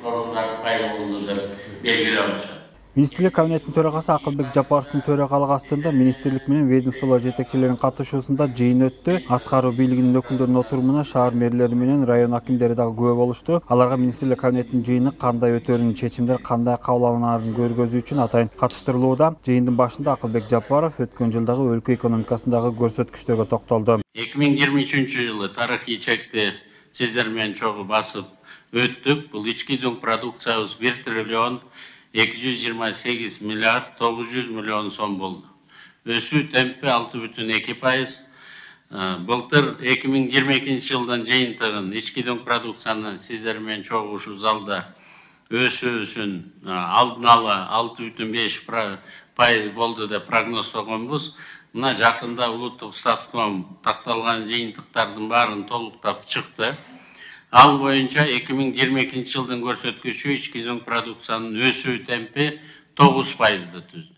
орундар пайда болду деп белгилеп атышат. Министрлик кабинетинин төрагасы Акылбек Жапаровдун төрагалыгы астында министрлик менен ведомстволор жетекчилеринин катышуусунда жыйын өттү. Аткаруу бийлигинин өкүлдөрүнүн отурумуна шаар мэрлери менен район акимдери дагы күбө болушту. Аларга министрлик кабинетинин жыйыны кандай өтөрүн, чечимдер кандай кабыл алынаарын көргөзүү үчүн атайын катыштырылууда. Жыйындын башында Акылбек Жапаров өткөн жылдагы өлкө экономикасындагы көрсөткүчтөргө токтолду. 2023-жылы тарыхый чекти сиздер менен чогуу басып өттүк. Бул ички дүң продукциябыз 1 триллион 228 миллиард 900 миллион сом болду. Өсүү темпи 6,2%. Былтыр 2022 жылдын жыйынтыгын ички дүң продукцияны сиздер менен чогуу ушул залда өсүүсүн алдын ала 6,5% болду деп прогноздогонбуз. Мына жакында улуттук статком такталган жыйынтыктардын баарын толуктап чыкты. Ал боюнча 2022 жылдын көрсөткүчү ички дүң продукциянын өсүү темпи 9%ды түздү.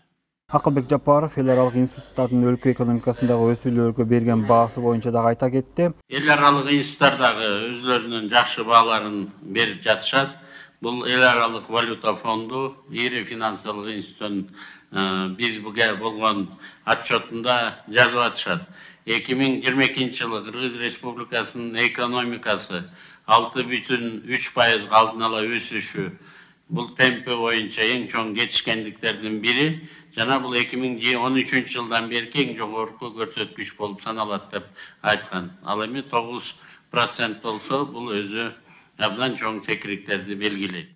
Акылбек Жапаров эл аралык институттардын өлкө экономикасындагы өсүүлөргө берген баасы боюнча дагы айта кетти. Эл аралык институттар дагы өзлөрүнүн жакшы бааларын берип жатышат. Бул эл аралык валюта фонду, ири финансылык институттун бизге болгон отчетунда жазып атышат. 2022 жылы Кыргыз Республикасынын экономикасы 6,3% алдын ала өсүшү. Бул темпи боюнча эң чоң жетишкендиктердин бири. Жана бул 2013 жылдан берки эң жогорку көрсөткүч болуп саналат деп айткан. Ал эми 9% болсо, бул өзү абдан чоң секирикттерди белгилейт.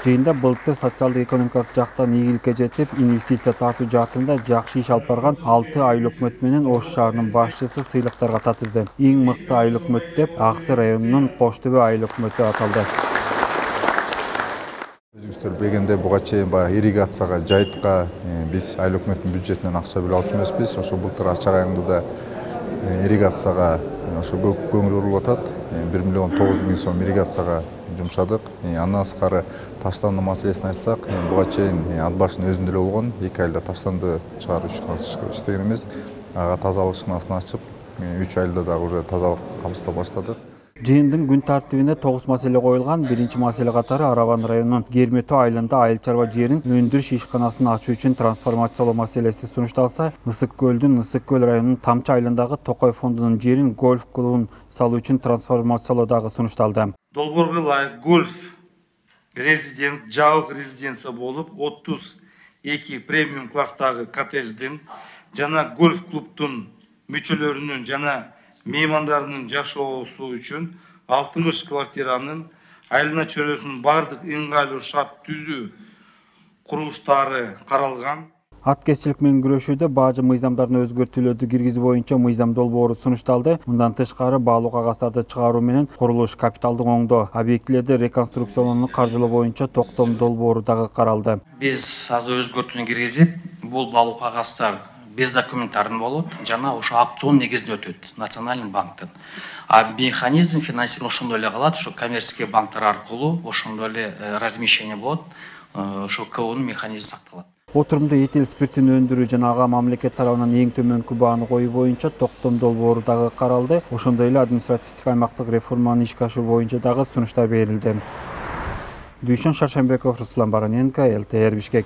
Жыйында былтыр социалдык экономикалык жактан ийгиликке жетип, инвестиция тартуу жаатында жакшы иш алып барган 6 айыл өкмөт менен Ош шаарынын башчысы сыйлыктарга татырды. Эң мыкты айыл өкмөт деп Аксы районунун Кош Төбө айыл өкмөтү аталды. Өзүңүздөр билгендей, буга чейин баягы ирригацияга, жайытка биз айыл өкмөттүн бюджетинен акча бөлүп алчу эмеспиз. Ошо былтыр ачык айымдыда ирригацияга ошо көп көңүл бурулуп атат. 1 миллион 900 миң сом ирригацияга жумшадык. Андан сырткары таштанды маселесин айтсак, буга чейин ат башынын өзүндө эле болгон 2 айда таштанды чыгаруу иштегенбиз. Ага тазалык ишканасын ачып, 3 айда дагы уже тазалык камсыздап баштадык. Жыйындын күн тартибине 9 маселе коюлган. Биринчи маселе катары Араван районунун Герметөө айылында айыл чарба жерин өндүрүш ишканасын ачуу үчүн трансформациялоо маселеси сунушталса, Ысык көл районунун Тамчы айылындагы Токой фондунун жерин гольф клубун салуу үчүн трансформациялоо дагы сунушталды. Долбоорго ылайык гольф жабык резиденция болуп, 32 премиум класстагы коттедждин жана гольф клубтун мүчөлөрүнүн жана меймандарынын жашоосу үчүн 60 квартиранын айылына чөйрөсүнүн бардык ыңгайлуу шарт түзүү курулуштары каралган. Аткезчилик менен күрөшүүдө баажы мыйзамдардын өзгөртүүлөрдү киргизүү боюнча мыйзам долбоору сунушталды. Мындан тышкары баалуу кагаздарды чыгаруу менен курулуш, капиталдык оңдоо, объектилерди реконструкциялоону каржылоо боюнча токтом долбоору дагы каралды. Биз азыр өзгөртүүнү киргизип, бул баалуу кагаздар биз документтарын болот жана ошо аукцион негизинде өтөт национальный банктан. Механизм финансирования ошондой эле калат, ошо коммерческий банктар аркылуу ошондой эле размещение болот, ошо КОнун механизми сакталат. Отурумда этил спиртин өндүрүү жана ага мамлекет тарабынан эң төмөнкү бааны коюу боюнча токтом долбоору дагы каралды. Ошондой эле административдик аймактык реформаны ишке ашыруу боюнча дагы сунуштар берилди. Дүйшөн Шаршембеков, Руслан Бароненко, ЛТР Бишкек.